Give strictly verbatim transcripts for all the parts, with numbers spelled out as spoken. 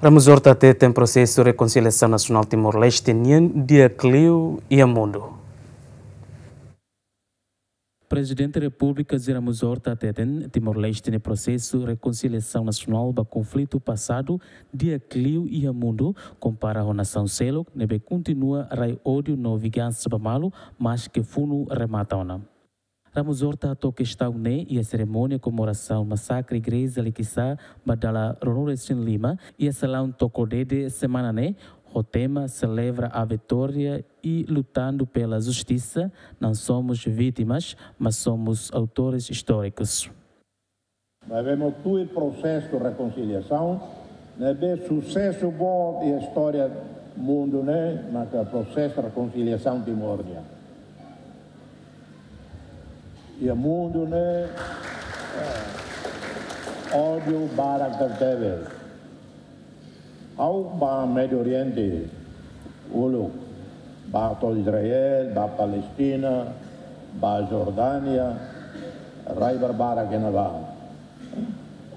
Ramos Horta hateten prosesu rekonsiliasaun nasionál Timor-Leste nian di'ak liu iha mundu. Prezidente Repúblika José Ramos Horta hateten Timor-Leste nia prosesu rekonsiliasaun nasionál ba konflitu pasadu di'ak liu iha mundu, kompara ho nasaun seluk ne'ebé kontinua rai ódiu no vingansa ba malu, maske funu remata ona. Ramos Horta hato'o kestaun ne'e iha serimónia komemorasaun masakre Igreja Likisá ba dala ruanulu-resin-lima, iha salaun Toko Dede semana ne'e, ho tema Celebra a Vitória e Lutando pela Justiça, não somos vítimas, mas somos autores históricos. Maibé mak tuir prosesu rekonsiliasaun, ne'ebé susesu boot iha istória mundu ne'e, maka prosesu rekonsiliasaun Timor nian. Iha mundu ne'e, eh, ódiu barak tebetebes. Ha'u bá Médio Oriente uluk, bá to'o Israel, bá Palestina, bá Jordánia, rai barbarak iha ne'ebá.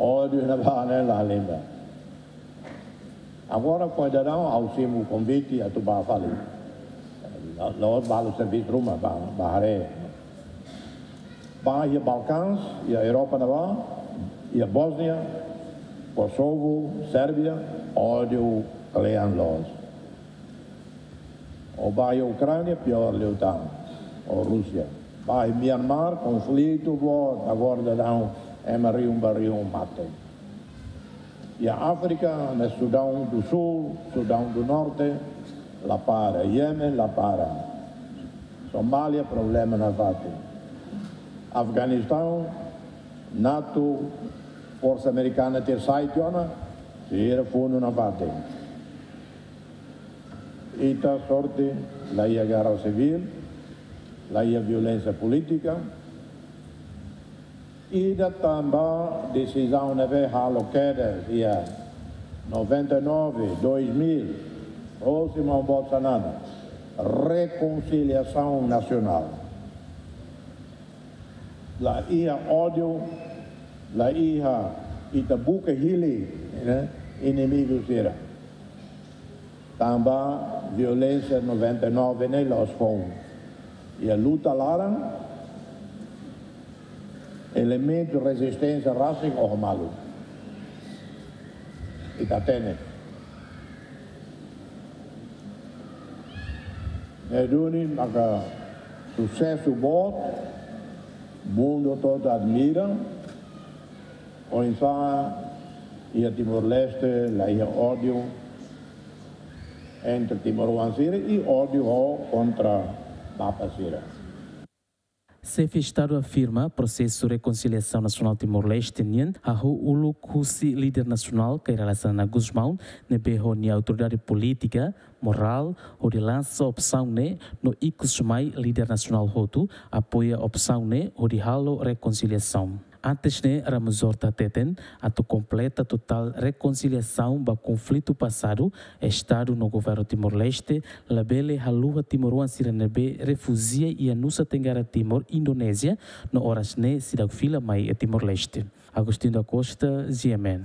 Ódiu iha ne'ebá ne'e la halimar. Agora, foin daudaun, ha'u simu konvite atu bá fali. La, la'ós balu servisu ruma, bá, bá haree. Bá iha Balkãs, iha Europa ne'ebá, iha Bósnia, Kosovu, Sérbia, ódiu kle'an loos. Ó bá iha Ukránia, piór liután, ho Rúsia. Bá iha Myanmar, konflitu boot, agora daudaun ema rihun ba rihun mate. Iha Áfrika, ne'e Sudaun do Sul, Sudaun do Norte, la para, Yemen, la para. Somália, problema nafatin. Afeganistaun, NATO, forsa amerikana tuir sai tiha ona, sira funu nafatin. Ita sorte, la iha gerra sivíl, la iha violénsia polítika. Ida tanba desizaun ne'ebé halo kedas iha noventa e nove, dois mil, hosi maun boot Xanana, rekonsiliasaun nasionál. La iha ódiu, la iha ita buka hili, ne'e, inimigu sira. Tanba violénsia noventa e nove ne'e la'ós foun. Iha luta laran, elementu rezisténsia rasik oho malu. Ita hatene. Ne'e duni maka susesu boot, mundu to'o admira, oinsá iha Timor-Leste la iha ódiu entre timoroan sira i ódiu ho kontra bapa sira. Xefe Estadu afirma prosesu rekonsiliasaun nasionál Timor-Leste nian hahú uluk husi líder nasionál Kay Rala Xanana Gusmão, ne'ebé ho nia autoridade polítika, morál, hodi lansa opsaun ne'e no ikus mai líder nasionál hotu apoia opsaun ne'e hodi halo rekonsiliasaun. Antes ne'e, Ramos Horta hateten, atu kompleta totál rekonsiliasaun ba konflitu pasadu, Estadu no Governu Timor-Leste labele haluha timoroan sira ne'ebé refújia iha Nusa Tenggara Timur, Indonézia, no oras ne'e seidauk fila mai iha Timor-Leste. Agostinho da Costa, G M N.